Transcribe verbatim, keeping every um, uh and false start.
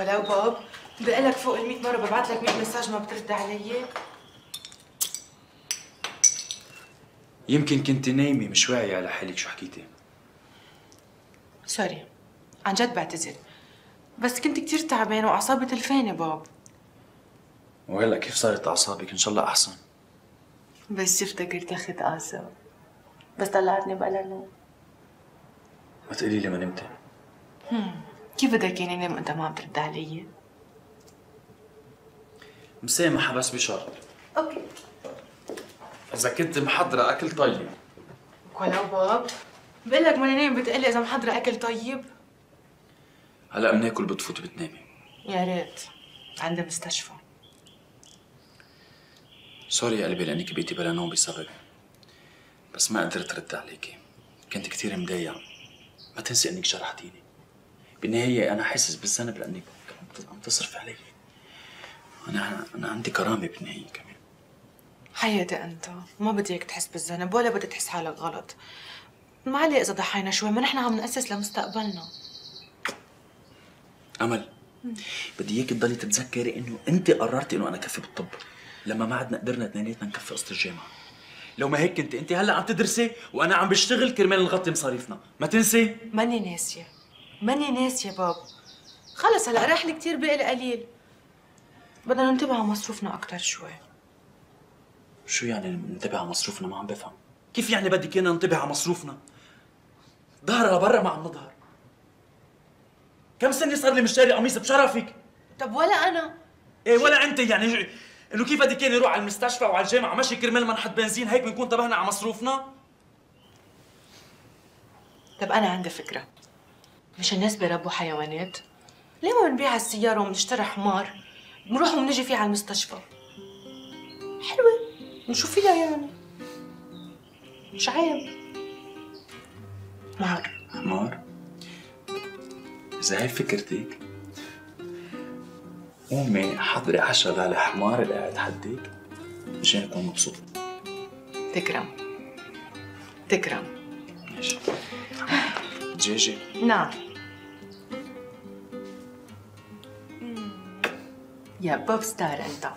ولو باب بقلك فوق المية مرة ببعت لك مية مساج ما بترد علي. يمكن كنت نايمة مش واعية على حالك شو حكيتي. سوري، عن جد بعتذر، بس كنت كتير تعبانة وأعصابي تلفانة باب. وهلا كيف صارت أعصابك؟ إن شاء الله أحسن. بس شفتك ارتخت أعصاب، بس طلعتني بلا نوم. ما تقولي لي ما نمتي. هم. كيف بدك يعني نام وأنت ما عم ترد علي؟ مسامحة بس بشرط. أوكي. إذا كنت محضرة أكل طيب. ولو باب بقول لك ماني نايم بتقلي إذا محضرة أكل طيب؟ هلا بناكل بتفوتي بتنامي. يا ريت، عندي مستشفى. سوري يا قلبي لأنك بقيتي بلا نوم بسببي، بس ما قدرت أرد عليكي، كنت كثير مضايقة. ما تنسي إنك جرحتيني. بالنهاية أنا حاسس بالذنب لأنك عم تصرف علي. أنا أنا عندي كرامة بالنهاية كمان. حياتي أنت، ما بدي إياك تحس بالذنب ولا بدي تحس حالك غلط. معلي إذا ضحينا شوي، ما نحن عم نأسس لمستقبلنا. أمل، بدي إياك تضلي تتذكري إنه أنت قررتي إنه أنا كفي بالطب، لما ما عدنا قدرنا اثنيناتنا نكفي قسط الجامعة. لو ما هيك كنت أنت هلا عم تدرسي وأنا عم بشتغل كرمال نغطي مصاريفنا، ما تنسي؟ ماني ناسية، ماني ناسية باب. خلص هلا راح لي كثير بقلي قليل. بدنا ننتبه على مصروفنا أكثر شوي. شو يعني ننتبه على مصروفنا؟ ما عم بفهم. كيف يعني بدك إيانا ننتبه على مصروفنا؟ ظهر لبرا ما عم نظهر. كم سنة صار لي مشتري قميص بشرفك؟ طب ولا أنا؟ ايه ولا أنت يعني إنه كيف بدك إياني أروح على المستشفى وعلى الجامعة مشي كرمال ما نحط بنزين هيك بنكون انتبهنا على مصروفنا؟ طب أنا عندي فكرة. مش الناس بيربوا حيوانات؟ ليه ما بنبيع السيارة وبنشتري حمار بنروح وبنجي فيه على المستشفى؟ حلوة، نشوف فيها يعني. مش عيب. حمار حمار؟ إذا هي فكرتك قومي حضري عشرة على حمار اللي قاعد حدك مشان أكون مبسوط. تكرم تكرم. ماشي. دجاجة؟ نعم. يا بوب ستار أنت.